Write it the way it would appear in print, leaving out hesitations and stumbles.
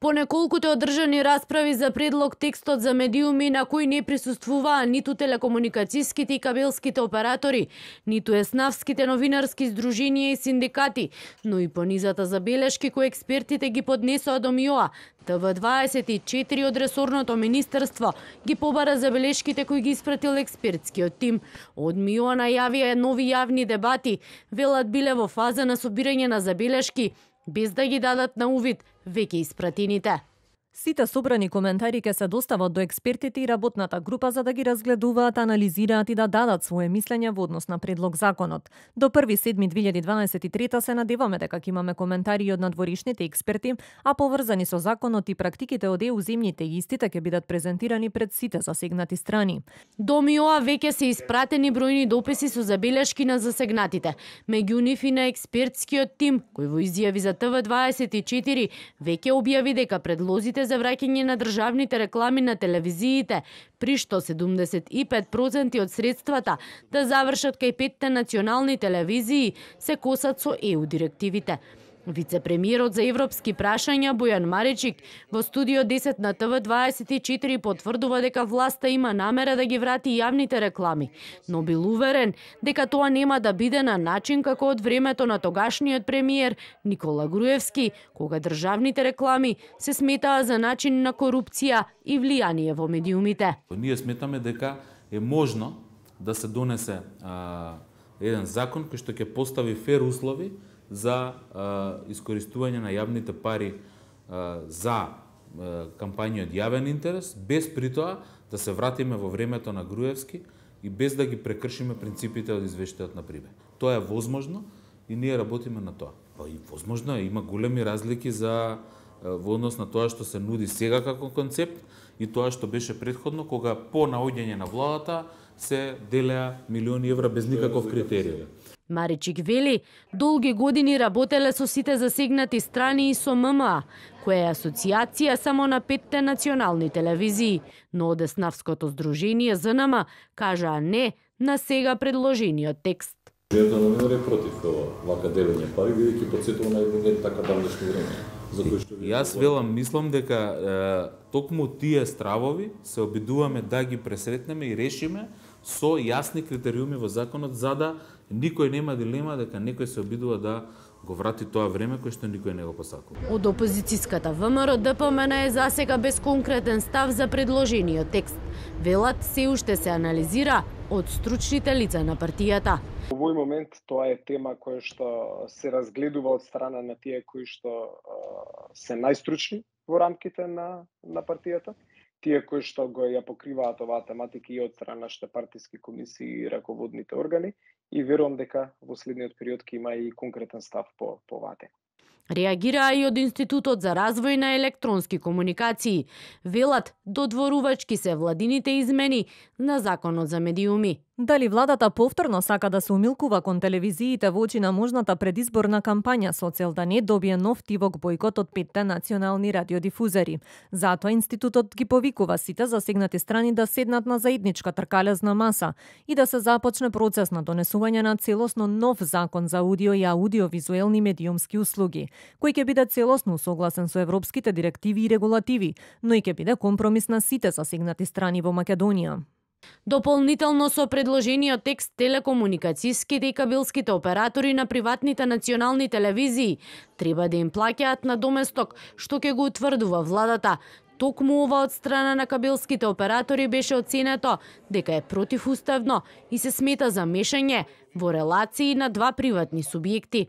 По неколкуте одржани расправи за предлог текстот за медиуми на кои не присуствуваа ниту телекомуникацијските и кабелските оператори, ниту еснавските новинарски здруженија и синдикати, но и понизата забелешки кои експертите ги поднесоа до МИОА, ТВ24 од ресорното министерство ги побара забелешките кои ги испратил експертскиот тим. Од МИОА најавија нови јавни дебати, велат биле во фаза на собирање на забелешки, без да ги дадат на увид веќе испратените. Сите собрани коментари ќе се достават до експертите и работната група за да ги разгледуваат, анализираат и да дадат свое мислење во однос на предлог законот. До 1.7.2023 се надеваме дека ќе имаме коментари од надворишните експерти, а поврзани со законот и практиките од ЕУ земјите и истите ќе бидат презентирани пред сите засегнати страни. До МИОА веќе се испратени бројни дописи со забелешки на засегнатите. Меѓу нив и на експертскиот тим, кој во изјави за ТВ24 веќе објави дека предлозите за враќање на државните реклами на телевизиите, при што 75% од средствата да завршат кај 5 национални телевизии, се косат со ЕУ директивите. Вице-премиерот за европски прашања Бојан Маричик во студио 10 на ТВ24 потврдува дека власта има намера да ги врати јавните реклами, но бил уверен дека тоа нема да биде на начин како од времето на тогашниот премиер Никола Груевски, кога државните реклами се сметаа за начин на корупција и влијание во медиумите. Ние сметаме дека е можно да се донесе еден закон кој што ќе постави фер услови за искористување на јавните пари за кампањи од јавен интерес, без при тоа да се вратиме во времето на Груевски и без да ги прекршиме принципите од извештајот на Прибе. Тоа е возможно и ние работиме на тоа. И возможно е, има големи разлики во однос на тоа што се нуди сега како концепт и тоа што беше претходно, кога по наоѓање на владата се делеа милиони евра без никаков критериум. Маричик вели, долги години работеле со сите засегнати страни и со ММА, која е асоциација само на 5 национални телевизии, но од Еснавското здружение ЗНМ кажаа не на сега предложениот текст. Жена номер е против вака делење пари, бидејќи потсетува на едно така давнешно време. Јас мислам дека токму тие стравови се обидуваме да ги пресретнеме и решиме со јасни критериуми во законот, за да никој нема дилема дека некој се обидува да го врати тоа време кој што никој не го посакува. Од опозицијската ВМРО ДПМН е засега без конкретен став за предложениот текст. Велат се уште се анализира од стручните лица на партијата. Во овој момент тоа е тема која што се разгледува од страна на тие кои што се најстручни во рамките на партијата, тие кои што го ја покриваат оваа тематика и од страна нашите партиски комисии и раководните органи, и верувам дека во следниот период ќе има и конкретен став по оваа тема. Реагираа и од Институтот за развој на електронски комуникации. Велат, додворувачки се владините измени на законот за медиуми. Дали владата повторно сака да се умилкува кон телевизиите во очи на можната предизборна кампања со цел да не добие нов тивок бојкот од 5 национални радиодифузери. Затоа Институтот ги повикува сите засегнати страни да седнат на заедничка тркалезна маса и да се започне процес на донесување на целосно нов закон за аудио и аудиовизуелни медиумски услуги, кој ќе биде целосно согласен со европските директиви и регулативи, но и ќе биде компромис на сите засегнати страни во Македонија. Дополнително со предложениот текст, телекомуникацијските и кабелските оператори на приватните национални телевизии треба да им плаќаат на доместок, што ќе го утврдува владата. Токму ова од страна на кабелските оператори беше оценето дека е противуставно и се смета за мешање во релации на два приватни субјекти.